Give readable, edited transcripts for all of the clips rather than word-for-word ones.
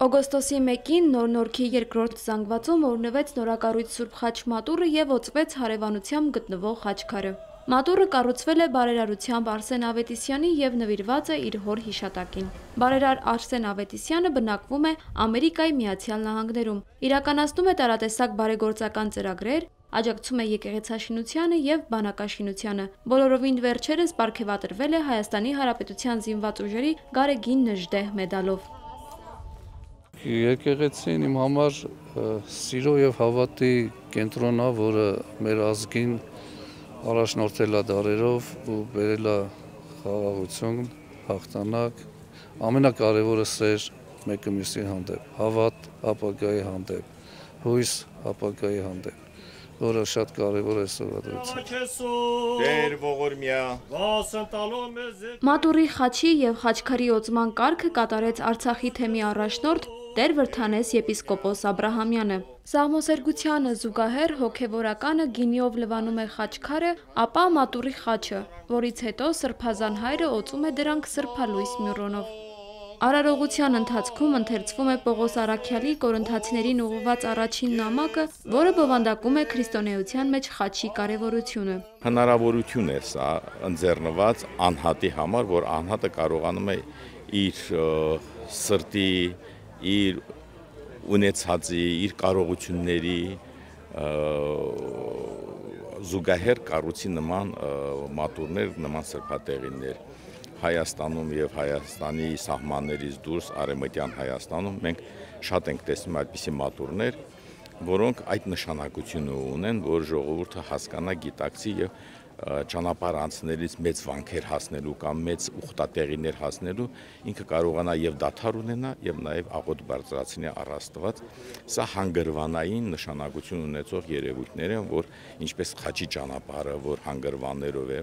Օգոստոսի 1-ին Նոր-Նորքի երկրորդ զանգվածում օրհնվեց նորակառույց Սուրբ Խաչ մատուռը և օծվեց հարևանությամբ գտնվող խաչքարը։ Մատուռը կառուցվել է բարերարությամբ Արսեն Ավետիսյանի և նվիրված է իր հոր հիշատակին։ Բարերար Արսեն Ավետիսյանը բնակվում է Ամերիկայի Միացյալ Նահանգներում, իրականացնում է տարատեսակ բարեգործական ծրագրեր, աջակցում է եկեղեցաշինությանը և բանակաշինությանը։ Բոլորովին վերջերս պարգևատրվել է Հայաստանի Հանրապետության զինված ուժերի Գարեգին Նժդեհ մեդալով։ Եկեղեցին իմ համար սիրո և հավատի կենտրոնն է, որը մեր ազգին առաջնորդել է դարերով ու բերել է խաղաղություն, հաղթանակ, ամենակարևորը սեր մեկը մյուսի հանդեպ, հավատ ապագայի հանդեպ, հույս ապագայի հանդեպ, որը շատ կարևոր է սովորություն։ Մատուռի խաչի և խաչքարի օծման կարգը կատարեց Արցախի թեմի առաջնորդ Տեր Վրդանես եպիսկոպոս Աբրահամյանը։ Սաղմոսերգությանը զուգահեռ հոգևորականը գինիով լվանում է խաչքարը, ապա մատուռի խաչը, որից հետո սրբազան հայրը օծում է դրանք սրբալույս մյուրոնով։ Արարողության ընթացքում ընթերցվում է Պողոս Առաքյալի Կորինթացիներին ուղղված առաջին նամակը, որը բովանդակում է քրիստոնեության մեջ խաչի կարևորությունը։ Հնարավորություն է սա ընձեռնված անհատի համար, որ անհատը կարողանում է իր սրտի, իր ունեցածի, իր կարողությունների զուգահեռ կառուցի նման մատուռներ, նման սրբատեղիներ։ Հայաստանում և Հայաստանի սահմաններից դուրս արևմտյան Հայաստանում մենք շատ ենք տեսնում այդպիսի մատուռներ, որոնք այդ նշանակությունը ունեն, որ ժողովուրդը հասկանա, գիտակցի և ճանապարհ անցնելիս մեծ վանքեր հասնելու կամ մեծ ուխտատեղիներ հասնելու ինքը կարողանա և դադար ունենա և նաև աղոթ բարձրացնի առ Աստված։ Սա հանգրվանային նշանակություն ունեցող երևույթներ են, որ ինչպես խաչի ճանապարհը, որ հանգրվաններով է,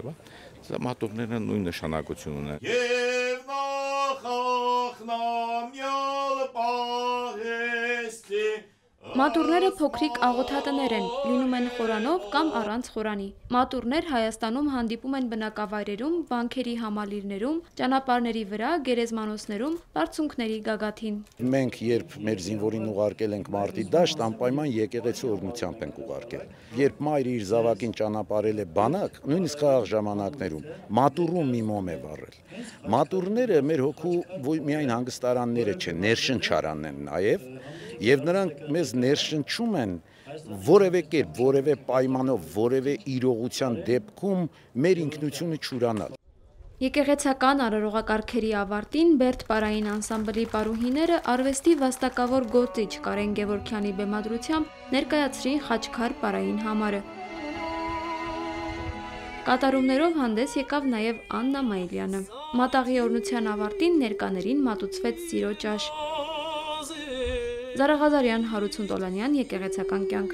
սա մատուռները նույն նշանակություն ունեն։ Մատուռները փոքրիկ աղոթատներ են, լինում են խորանով կամ առանց խորանի։ Մատուռներ Հայաստանում հանդիպում են բնակավայրերում, վանքերի համալիրներում, ճանապարհների վրա, գերեզմանոցներում, բարձունքների գագաթին։ Մենք երբ մեր զինվորին ուղարկել ենք մարտի դաշտ, անպայման եկեղեցի օրհնությամբ ենք ուղարկել։ Երբ մայրը իր զավակին ճանապարհել է բանակ, նույնիսկ խաղաղ ժամանակներում, մատուռում մի մոմ է վառել։ Մատուռները մեր հոգու միայն հանգստարանները չեն, ներշնչարանն են նաև, եւ նրանք մեզ ներշնչում են որևէ կերպ, որևէ պայմանով, որևէ իրողության դեպքում մեր ինքնությունը չուրանալ։ Եկեղեցական արարողակարգերի ավարտին Բերդ պարային անսամբլի պարուհիները արվեստի վաստակավոր գործիչ Կարեն Գևորգյանի բեմադրությամբ ներկայացրին խաչքար պարային համարը։ Կատարումներով հանդես եկավ նաև Աննա Մայիլյանը։ Մատաղի օրհնության ավարտին ներկաներին մատուցվեց սիրո ճաշ։ Զարաղազարյան, Հարություն Տոլանյան, Եկեղեցական կյանք։